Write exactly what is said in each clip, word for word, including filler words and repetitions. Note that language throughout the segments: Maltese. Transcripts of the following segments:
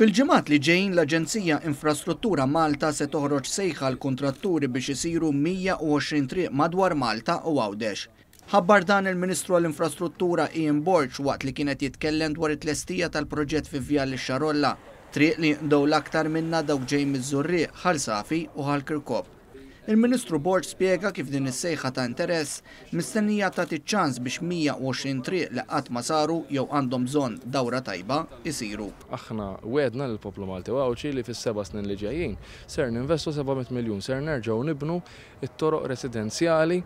Fil-ġimgħat li ġejjin, l-Aġenzija Infrastruttura Malta se toħroġ sejħa l-kontratturi biex isiru mija u għoxrin triq madwar Malta u Għawdex. Ħabbar dan il-Ministru għall-Infrastruttura Ian Borg waqt li kien qed jitkellem dwar it-tlestija tal-proġett fi Vjal ix-Xarolla, triq li jinqdew l-aktar minna dawk ġej miż-Żurrieq, Ħal Safi u Ħal Kirkop. Il-Ministru Borg spjega kif din is-sejħa ta' interess mistennija tagħti ċans biex mija u għoxrin triq li qatt ma saru jew għandhom bżonn dawra tajba isiru. Aħna wegħedna lill-poplu Malti u Għawdxi li fis-seba' snin li ġejjin ser ninvestu seba' mitt miljun, ser nerġgħu nibnu it-toroq residenzjali,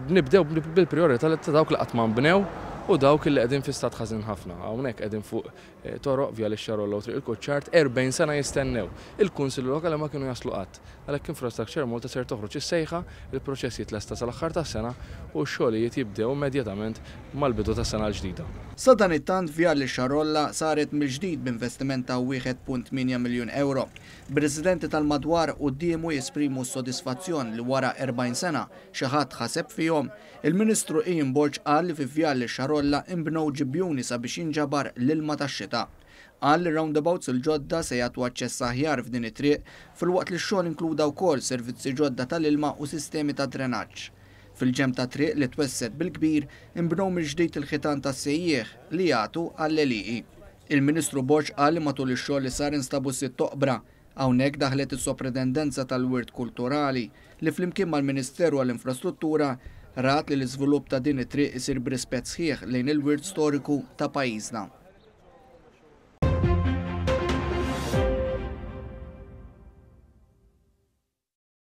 nibdew bil-priorità ta' dawk li qatt ma nbnew u dawk li qegħdin fi stat ħażin ħafna. Hawnhekk qegħdin fuq eh, toroq Vjal ix-Xarolla u Triq il-Kuċċard, erbgħin sena jistennew. Il-Kunsilli Lokali ma kienu jaslu qatt. Għalhekk Infrastructure Malta ser toħroġ is-sejħa, il-proċess jitlesta sal-aħħar tas-sena u x-xogħlijiet jibdew immedjatament mal-bidu tas-sena l-ġdida. Sadanittant, Vjal ix-Xarolla saret mill-ġdid b'investiment ta' wieħed punt tmienja miljun euro. Bir-residenti tal-madwar quddiemu jesprimu s-sodisfazzjon li wara erbgħin sena xi ħadd ħaseb fihom, il-Ministru Ian Borg qal li fi Vjal ix-Xarolla inbnew ġibjuni sabiex jinġabar l-ilma tax-xita. Qal li roundabouts il-ġodda se jagħtu aċċess aħjar f'din it-triq, filwaqt li x-xogħol inkluda wkoll servizzi ġodda tal-ilma u sistemi ta' drenaġġ. Fil-ġenb ta' triq li twessgħet bil-kbir, inbnew mill-ġdid il-ħitan tas-sejjieħ li jagħtu għall-għelieqi. Il-Ministru Borg qal li matul ix-xogħol li sar instabu sitt oqbra. Hawnhekk daħlet is-Sopratendenza tal-Wirt Kulturali li flimkien mal-Ministeru għall-Infrastruttura rat li l-iżvilupp ta' din it-triq isir b'rispett sħiħ lejn il-wirt storiku ta' pajjiżna.